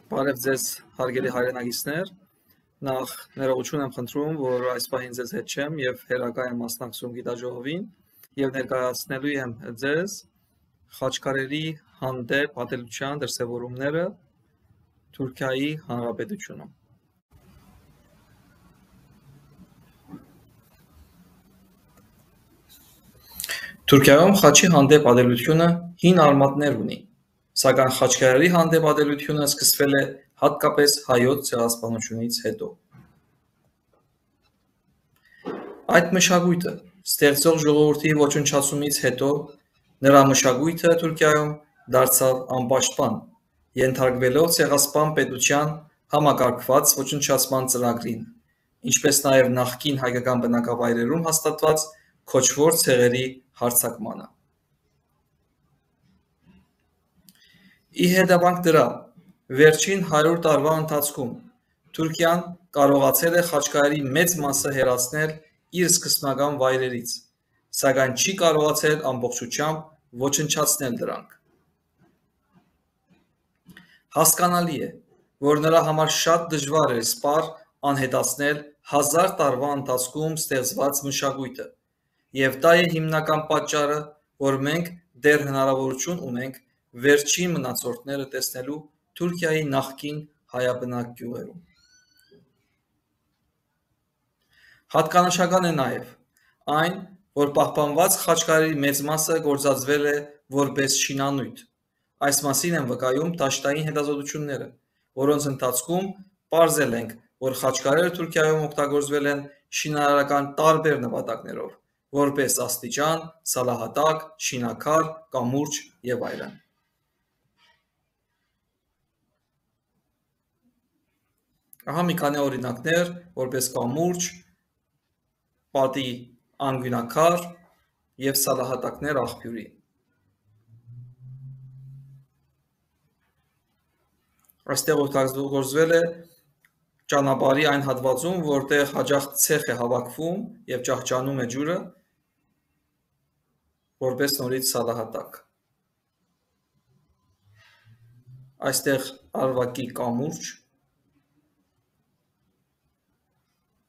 Բարև ձեզ հարգելի հայրենագիցներ, նախ ներողություն եմ խնդրում, որ այս պահին ձեզ հետ չեմ և հերակա եմ մասնակցում գիտաժողովին և ներկայացնելու եմ ձեզ խաչքարերի հանդեպ ատելության դրսևորումները Թուրքիայի Հանրապետությունում։ Թուրքիայում խաչի հանդեպ ատելությունը հին արմատներ ունի, սակայն խաչքարերի հանդեպ ատելությունը սկսվել է հատկապես հայոց ցեղասպանությունից հետո։ Այդ մշակույթը ստեղծող ժողովրդի ոչնչացումից հետո նրա մշակույթը Թուրքիայում դարձավ անպաշտպան, ենթարկվելով ցեղասպան պետության համակարգված ոչնչացման ծրագրին, ինչպես նաև նախկին հայկական բնակավայրերում հաստատված քոչվոր ցեղերի հարձակմանը։ Ի հետևանք դրա, վերջին 100 տարվա ընթացքում Թուրքիան կարողացել է խաչքարերի մեծ մասը հեռացնել իր սկզբնական վայրերից, սակայն չի կարողացել ամբողջությամբ ոչնչացնել դրանք։ Հասկանալի է, որ նրա համար շատ դժվար էր սպառ անհետացնել 1000 տարվա ընթացքում ստեղծված մշակույթը, և դա է հիմնական պատճառը, որ մենք դեռ հնարավորություն ունենք վերջին մնացորդները տեսնելու Թուրքիայի նախկին հայաբնակ գյուղերում։ Հատկանշական է նաև այն, որ պահպանված խաչքարերի մեծ մասը գործածվել է որպես շինանյութ։ Այս մասին են վկայում դաշտային հետազոտությունները, որոնց ընթացքում պարզել ենք, որ խաչքարերը Թուրքիայում օգտագործվել են շինարարական տարբեր նպատակներով, որպես աստիճան, սալահատակ, շինաքար, կամուրջ և այլն։ Ահա մի քանի օրինակներ, որպես կամուրջ, պատի անկյունաքար և սալահատակներ աղբյուրի։ Այստեղ օգտագործվել է ճանապարհի այն հատվածում, որտեղ հաճախ ցեխ է հավաքվում և ջախջանում է ջուրը, որպես նորից սալահատակ։ Այստեղ արվակի կամուրջ,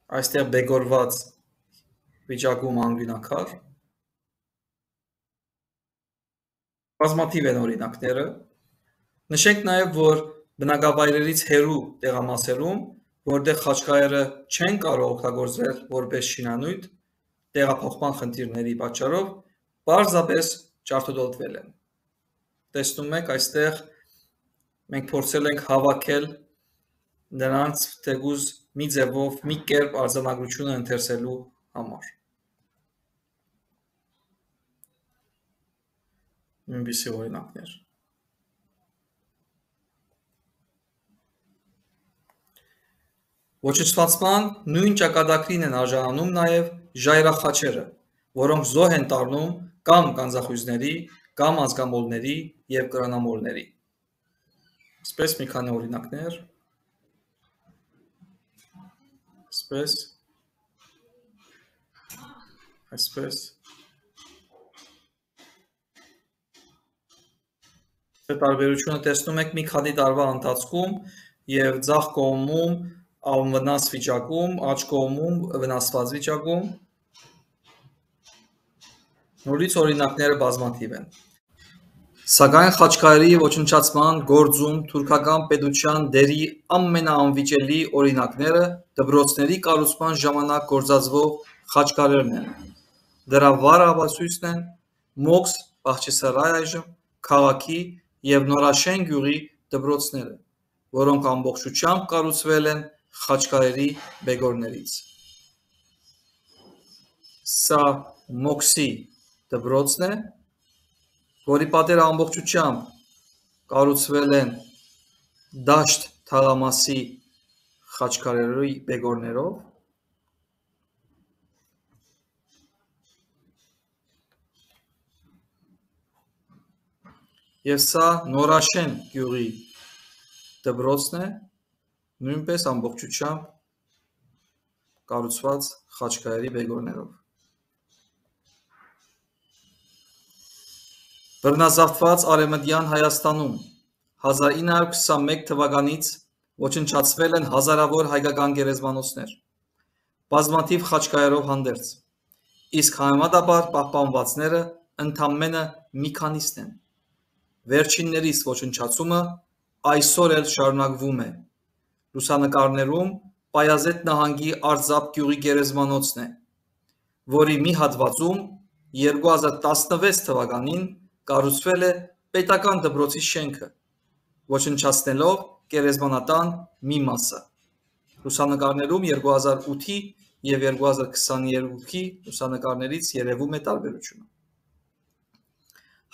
այստեղ բեկորված վիճակում անկյունաքար։ Բազմաթիվ են օրինակները։ Նշենք նաև, որ բնակավայրերից հեռու տեղամասերում, որտեղ խաչքարերը չեն կարող օգտագործվել որպես շինանյութ, տեղափոխման խնդիրների պատճառով պարզապես ջարդուդոտվել են։ Տեսնում եք, այստեղ մենք փորձել ենք հավաքել նրանց թեկուզ մի ձևով, մի կերպ արձանագրությունը ընթերցելու համար։ Նույնպիսի օրինակներ։ Ոչնչացման նույն ճակատագրին են արժանանում նաև ժայռախաչերը, որոնք զոհ են տառնում կամ գանձախույզների, կամ ազգամոլների և կրանամոլների։ Այսպես մի քանի օրինակներ։ Այսպես։ Տարբերությունը տեսնում եք մի քանի տարվա ընթացքում և ձախ կողմում անվնաս վիճակում, աջ կողմում վնասված վիճակում։ Նորից օրինակները բազմաթիվ են։ Սակայն խաչքարերի ոչնչացման գործում թուրքական պետության դերի ամենաանվիճելի օրինակները դպրոցների կառուցման ժամանակ գործածվող խաչքարերն են։ Դրա վառ ապացույցն են Մոքս Բախչիսարայ այժմ քաղաքի և Նորաշեն գյուղի դպրոցները, որոնք ամբողջությամբ կառուցվել են խաչքարերի բեկորներից։ Սա Մոքսի դպրոցն է, որի պատերը ամբողջությամբ կառուցվել են դաշտ թաղամասի խաչքարերի բեկորներով։ Եվ սա Նորաշեն գյուղի դպրոցն է, նույնպես ամբողջությամբ կառուցված խաչքարերի բեկորներով։ Բռնազավթված Արևմտյան Հայաստանում 1921 թվականից ոչնչացվել են հազարավոր հայկական գերեզմանոցներ, բազմաթիվ խաչկայերով հանդերձ, իսկ համեմատաբար պահպանվածները ընդամենը մի քանիսն են։ Վերջիններիս ոչնչացումը այսօր էլ շարունակվում է։ Լուսանկարներում Պայազետ նահանգի Արձապ գյուղի գերեզմանոցն է, որի մի հատվածում 2016 թվականին կառուցվել է պետական դպրոցի շենքը, ոչնչացնելով գերեզմանատան մի մասը։ Լուսանկարներում 2008-ի և 2022-ի լուսանկարներից երևում է տարբերությունը։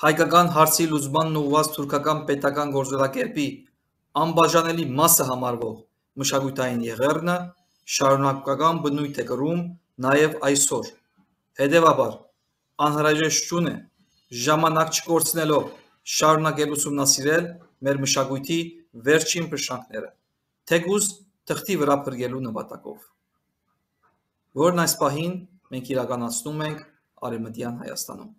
Հայկական հարցի լուծմանն ուղղված թուրքական պետական գործելակերպի անբաժանելի մասը համարվող մշակութային եղեռնը շարունակական բնույթ է կրում նաև այսօր, հետևաբար անհրաժեշտություն է ժամանակ չկորցնելով շարունակել ուսումնասիրել մեր մշակույթի վերջին փշրանքները, թեկուզ թղթի վրա փրկելու նպատակով, որն այս պահին մենք իրականացնում ենք Արևմտյան Հայաստանում։